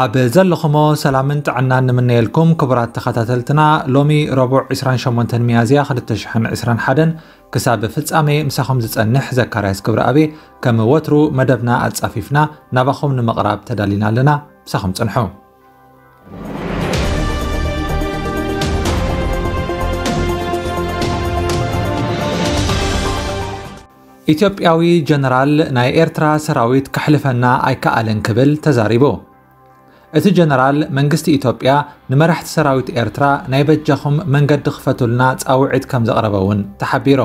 ኣብ ዘለኹሞ ሰላምን ጥዕናን ንምነየልኩም ክቡራት ተኸታተልትና። ሎሚ ረቡዕ ዕስራን ሸሞንተን ሚያዝያ ክልተ ሽሕን ዕስራን ሓደን ክሳብ ፍጻሜ ምሳኹም ዝጸንሕ ዘካርያስ ክብረኣብ። ከም ወትሩ መደብና ኣጻፊፍና ናባኹም ንምቕራብ ተዳሊና ኣለና። ምሳኹም ጽንሑ። ኢትዮጵያዊ ጀነራል ናይ ኤርትራ ሰራዊት ከሕልፈና ኣይከኣለን ክብል ተዛሪቡ። እቲ ጀነራል መንግስቲ ኢትዮጵያ ንመራሕቲ ሰራዊት ኤርትራ ናይ በጃኹም መንገዲ ክፈቱልና ጻውዒት ከም ዘቕረበ እውን ተሓቢሩ።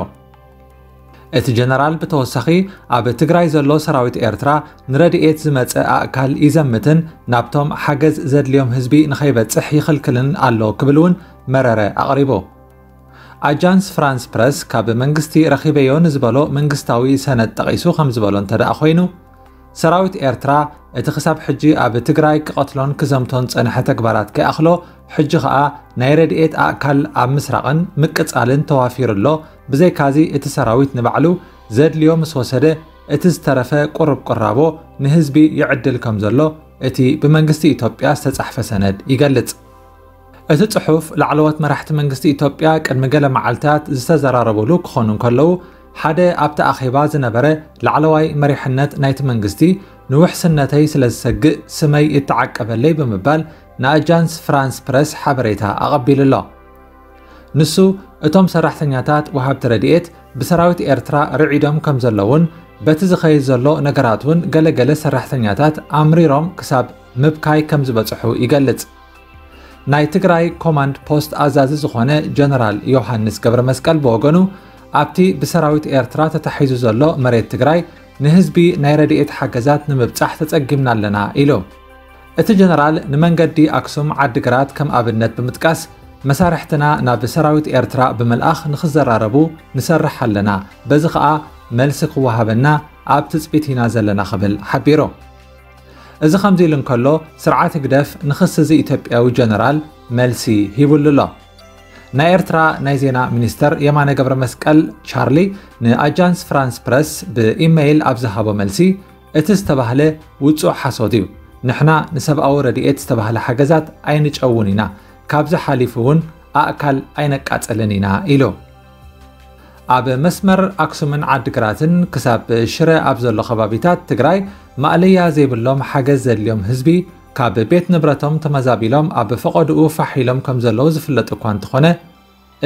እቲ ጀነራል ብተወሳኺ ኣብ ትግራይ ዘሎ ሰራዊት ኤርትራ ንረድኤት ዝመጸ ኣእካል ይዘምትን ናብቶም ሓገዝ ዘድልዮም ህዝቢ ንኸይበጽሕ ይኽልክልን ኣሎ ክብል እውን መረረ ኣቕሪቡ። ኣጃንስ ፍራንስ ፕረስ ካብ መንግስቲ ረኺበዮ ንዝበሎ መንግስታዊ ሰነድ ጠቒሱ ከም ዝበሎ እንተ ደኣ ኮይኑ፣ ሰራዊት ኤርትራ እቲ ክሳብ ሕጂ ኣብ ትግራይ ክቐትሎን ክዘምቶን ጸንሐ ተግባራት ከይኣኽሎ፣ ሕጂ ኸኣ ናይ ረድኤት ኣእካል ኣብ ምስራቕን ምቅጻልን ተዋፊሩ ኣሎ። ብዘይካዚ እቲ ሰራዊት ንባዕሉ ዘድልዮ ምስ ወሰደ፣ እቲ ዝተረፈ ቁሩብ ቁራቦ ንህዝቢ ይዕድል ከም ዘሎ እቲ ብመንግስቲ ኢትዮጵያ ዝተጻሕፈ ሰነድ ይገልጽ። እቲ ጽሑፍ ላዕለዎት መራሕቲ መንግስቲ ኢትዮጵያ ቅድሚ ገለ መዓልታት ዝተዘራረቡሉ ክኾኑ እንከለዉ፣ ሓደ ኣብቲ ኣኼባ ዝነበረ ላዕለዋይ መሪሕነት ናይቲ መንግስቲ ንውሕስነተይ ስለ ዝሰግእ ስመይ ይተዓቀበለይ ብምባል ንኣጃንስ ፍራንስ ፕረስ ሓበሬታ ኣቐቢሉ ኣሎ። ንሱ፣ እቶም ሰራሕተኛታት ወሃብቲ ረድኤት ብሰራዊት ኤርትራ ርዒዶም ከም ዘለውን በቲ ዝኸይድ ዘሎ ነገራት እውን ገለገለ ሰራሕተኛታት ኣምሪሮም ክሳብ ምብካይ ከም ዝበጽሑ ይገልጽ። ናይ ትግራይ ኮማንድ ፖስት ኣዛዚ ዝኾነ ጀነራል ዮሃንስ ገብረ መስቀል ብወገኑ፣ ኣብቲ ብሰራዊት ኤርትራ ተታሒዙ ዘሎ መሬት ትግራይ ንህዝቢ ናይ ረድኤት ሓገዛት ንምብጻሕ ተጸጊምና ኣለና ኢሉ። እቲ ጀነራል ንመንገዲ ኣክሱም ዓዲግራት ከም ኣብነት ብምጥቃስ፣ መሳርሕትና ናብ ሰራዊት ኤርትራ ብምልኣኽ ንኽዘራረቡ ንሰርሕ ኣለና፣ በዚ ኸኣ መልሲ ክወሃበና ኣብ ትጽቢት ኢና ዘለና ክብል ሓቢሩ። እዚ ከምዚ ኢሉ እንከሎ፣ ስርዓት ህግደፍ ንኽሲ እዚ ኢትዮጵያዊ ጀነራል መልሲ ሂቡሉ ኣሎ። ናይ ኤርትራ ናይ ዜና ሚኒስተር የማነ ገብረ መስቀል ቻርሊ ንኣጃንስ ፍራንስ ፕረስ ብኢመይል ኣብ ዝሃቦ መልሲ፣ እቲ ዝተባህለ ውጹእ ሓሶት እዩ። ንሕና ንሰብኣዊ ረድኤት ዝተባህለ ሓገዛት ኣይንጨውን ኢና፣ ካብዚ ሓሊፉ እውን ኣእካል ኣይነቃጽልን ኢና ኢሉ። ኣብ መስመር ኣክሱምን ዓድግራትን ክሳብ ሽረ ኣብ ዘሎ ከባቢታት ትግራይ ማእለያ ዘይብሎም ሓገዝ ዘድልዮም ህዝቢ ካብ ቤት ንብረቶም ተመዛቢሎም ኣብ ፈቐድኡ ፋሕ ኢሎም ከም ዘለዉ ዝፍለጥ እኳ እንተኾነ፣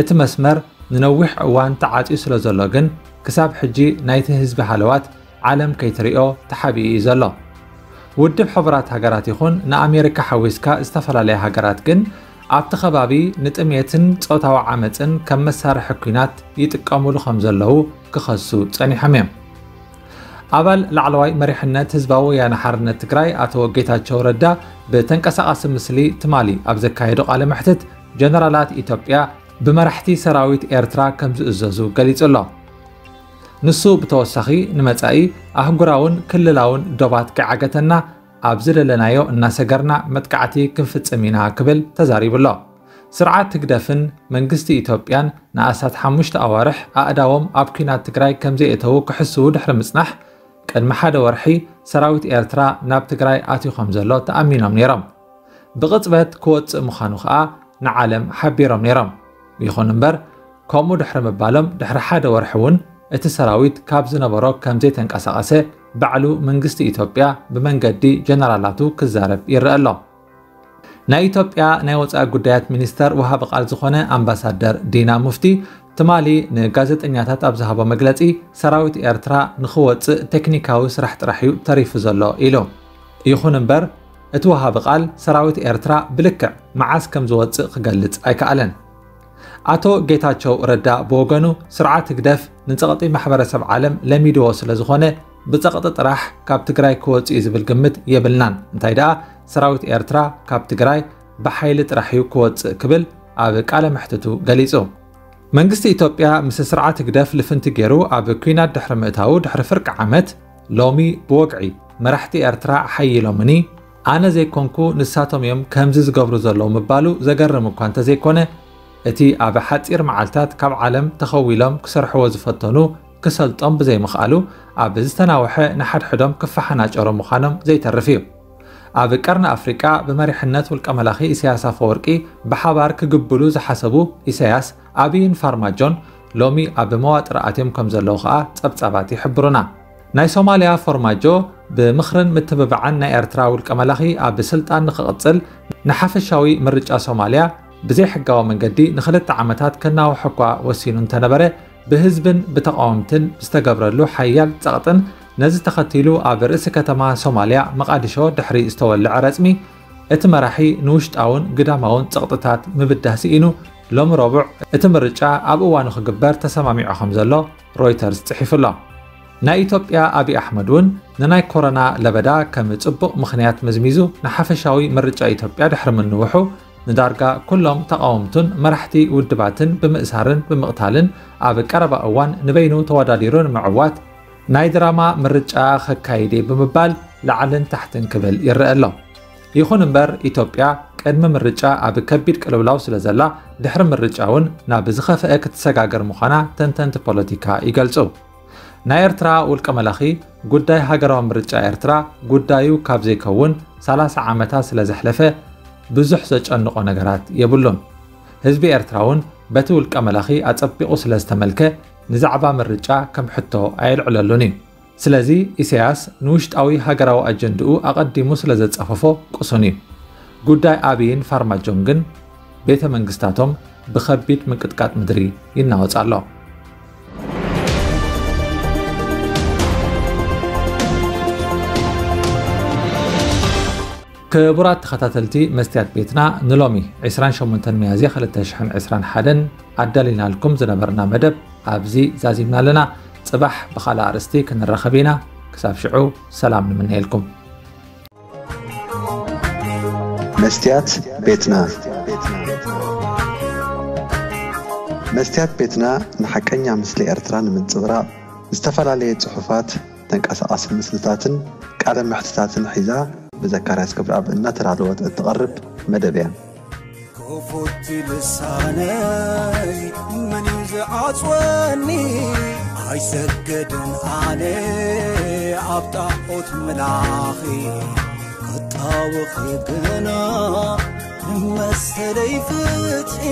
እቲ መስመር ንነዊሕ እዋን ተዓጽዩ ስለ ዘሎ ግን፣ ክሳብ ሕጂ ናይቲ ህዝቢ ሃለዋት ዓለም ከይትሪኦ ተሓቢኡ እዩ ዘሎ። ውድብ ሕቡራት ሃገራት ይኹን ንኣሜሪካ ሓዊስካ ዝተፈላለያ ሃገራት ግን፣ ኣብቲ ከባቢ ንጥሜትን ጾታዊ ዓመጽን ከም መሳርሒ ኲናት ይጥቀሙሉ ከም ዘለዉ ክኸሱ ጸኒሖም እዮም። ኣባል ላዕለዋይ መሪሕነት ህዝባዊ ወያነ ሓርነት ትግራይ ኣቶ ጌታቸው ረዳ ብተንቀሳቓሲ ምስሊ ትማሊ ኣብ ዘካየዶ ቃለ መሕትት፣ ጀነራላት ኢትዮጵያ ብመራሕቲ ሰራዊት ኤርትራ ከም ዝእዘዙ ገሊጹ ኣሎ። ንሱ ብተወሳኺ፣ ንመጻኢ ኣህጉራውን ክልላውን ዶባት ከይዓገተና፣ ኣብ ዝደለናዮ እናሰገርና መጥቃዕቲ ክንፍጽም ኢና ክብል ተዛሪቡ ኣሎ። ስርዓት ህግደፍን መንግስቲ ኢትዮጵያን ንኣስታት ሓሙሽተ ኣዋርሕ ኣእዳዎም ኣብ ኲናት ትግራይ ከም ዘየእተዉ ክሕስዉ ድሕሪ ምጽናሕ፣ ቅድሚ ሓደ ወርሒ ሰራዊት ኤርትራ ናብ ትግራይ ኣትዩ ከም ዘሎ ተኣሚኖም ነይሮም። ብቕጽበት ክወጽእ ምዃኑ ኸኣ ንዓለም ሓቢሮም ነይሮም። ይኹን እምበር፣ ከምኡ ድሕሪ ምባሎም ድሕሪ ሓደ ወርሒ እውን እቲ ሰራዊት ካብ ዝነበሮ ከም ዘይተንቀሳቐሰ ባዕሉ መንግስቲ ኢትዮጵያ ብመንገዲ ጀነራላቱ ክዛረብ ይረአ ኣሎ። ናይ ኢትዮጵያ ናይ ወጻኢ ጉዳያት ሚኒስተር ወሃቢ ቃል ዝኾነ ኣምባሳደር ዲና ሙፍቲ ትማሊ ንጋዜጠኛታት ኣብ ዝሃቦ መግለጺ፣ ሰራዊት ኤርትራ ንኽወጽእ ቴክኒካዊ ስራሕ ጥራሕ እዩ ተሪፉ ዘሎ ኢሉ። ይኹን እምበር፣ እቲ ወሃቢ ቃል ሰራዊት ኤርትራ ብልክዕ መዓስ ከም ዝወጽእ ክገልጽ ኣይከኣለን። ኣቶ ጌታቸው ረዳ ብወገኑ፣ ስርዓት ህግደፍ ንጸቕጢ ማሕበረሰብ ዓለም ለሚድዎ ስለ ዝኾነ፣ ብጸቕጢ ጥራሕ ካብ ትግራይ ክወጽእ እዩ ዝብል ግምት የብልናን፣ እንታይ ደኣ ሰራዊት ኤርትራ ካብ ትግራይ ብሓይሊ ጥራሕ እዩ ክወጽእ ክብል ኣብ ቃለ መሕትቱ ገሊጹ። መንግስቲ ኢትዮጵያ ምስ ስርዓት ህግደፍ ልፍንቲ ገይሩ ኣብ ኲናት ድሕሪ ምእታዉ፣ ድሕሪ ፍርቂ ዓመት፣ ሎሚ ብወግዒ መራሕቲ ኤርትራ ሓይሎምኒ፣ ኣነ ዘይኮንኩ ንሳቶም እዮም ከምዚ ዝገብሩ ዘለዉ ምባሉ ዘገርም እኳ እንተዘይኮነ፣ እቲ ኣብ ሓጺር መዓልታት ካብ ዓለም ተኸዊሎም ክሰርሕዎ ዝፈተኑ ክሰልጦም ብዘይምኽኣሉ፣ ኣብ ዝተናውሐ ንሓድሕዶም ክፈሓናጨሩ ምዃኖም ዘይተርፍ እዩ። ኣብ ቀርኒ ኣፍሪቃ ብመሪሕነት ውልቀ መላኺ ኢሳያስ ኣፈወርቂ ብሓባር ክግብሉ ዝሓሰቡ ኢሳያስ፣ ኣቢይን ፋርማጆን ሎሚ ኣብ መዋጥር ኣትዮም ከም ዘለዉ ከኣ ጸብጻባት ይሕብሩና። ናይ ሶማልያ ፎርማጆ ብምኽርን ምትብባዕን ናይ ኤርትራ ውልቀ መላኺ ኣብ ስልጣን ንኽቕጽል ንሓፈሻዊ ምርጫ ሶማልያ ብዘይሕጋዊ መንገዲ ንኽልተ ዓመታት ከናውሖ እኳ ወሲኑ እንተነበረ፣ ብህዝብን ብተቓወምትን ዝተገብረሉ ሓያል ጸቕጥን ነዚ ተኸቲሉ ኣብ ርእሲ ከተማ ሶማልያ መቓዲሾ ድሕሪ ዝተወልዐ ረጽሚ እቲ መራሒ ንውሽጣውን ግዳማውን ጸቕጥታት ምብዳህ ስኢኑ ሎሚ ረቡዕ እቲ ምርጫ ኣብ እዋኑ ክግበር ተሰማሚዑ ከም ዘሎ ሮይተርስ ጽሒፉ ኣሎ። ናይ ኢትዮጵያ ኣብይ ኣሕመድ እውን ንናይ ኮሮና ለበዳ ከም ጽቡቕ ምኽንያት መዝሚዙ ንሓፈሻዊ ምርጫ ኢትዮጵያ ድሕሪ ምንውሑ ንዳርጋ ኩሎም ተቓወምቱን መራሕቲ ውድባትን ብምእሳርን ብምቕታልን ኣብ ቀረባ እዋን ንበይኑ ተወዳዲሩ ንምዕዋት ናይ ድራማ ምርጫ ከካይድ እየ ብምባል ላዕልን ታሕትን ክብል ይረአ ኣሎ። ይኹን እምበር ኢትዮጵያ ቅድሚ ምርጫ ኣብ ከቢድ ቅልውላው ስለ ዘላ ድሕሪ ምርጫ እውን ናብ ዝኸፍአ ክትሰጋገር ምዃና ተንተንቲ ፖለቲካ ይገልጹ። ናይ ኤርትራ ውልቀ መላኺ ጉዳይ ሃገራዊ ምርጫ ኤርትራ ጉዳዩ ካብ ዘይከውን ሰላሳ ዓመታት ስለ ዘሕለፈ ብዙሕ ዘጨንቖ ነገራት የብሉን። ህዝቢ ኤርትራ እውን በቲ ውልቀ መላኺ ኣጸቢቑ ስለ ዝተመልከ ንዛዕባ ምርጫ ከም ሕቶ ኣየልዕለሉን እዩ። ስለዚ ኢሳያስ ንውሽጣዊ ሃገራዊ ኣጀንድኡ ኣቐዲሙ ስለ ዘጻፈፎ ቅሱን እዩ። ጉዳይ ኣቢይን ፋርማጆን ግን ቤተ መንግስታቶም ብኸቢድ ምንቅጥቃጥ ምድሪ ይናወጽ ኣሎ። ክቡራት ተኸታተልቲ መስትያት ቤትና፣ ንሎሚ ዕስራን ሸሞንተን ሚያዝያ ክልተ ሽሕን ዕስራን ሓደን ኣዳሊናልኩም ዝነበርና መደብ ኣብዚ ዛዚምና ኣለና። ጽባሕ ብኻልእ ኣርእስቲ ክንራኸብ ኢና። ክሳብ ሽዑ ሰላም ንምነየልኩም። መስትያት ቤትና። መስትያት ቤትና ንሓቀኛ ምስሊ ኤርትራ ንምንጽብራቕ ዝተፈላለየ ጽሑፋት፣ ተንቀሳቓሲ ምስልታትን ቃለ መሕትታትን ሒዛ ብዘካርያስ ክብረኣብ እናተዳለወት እትቐርብ መደብ እያ። ክፉት ልሳነይ መን እዩ ዝዓጽወኒ? ኣይሰግድን ኣነ ኣብ ጣዖት ምላኺ፣ ክጣወኺ ግና ንመሰለይ ፍትሒ።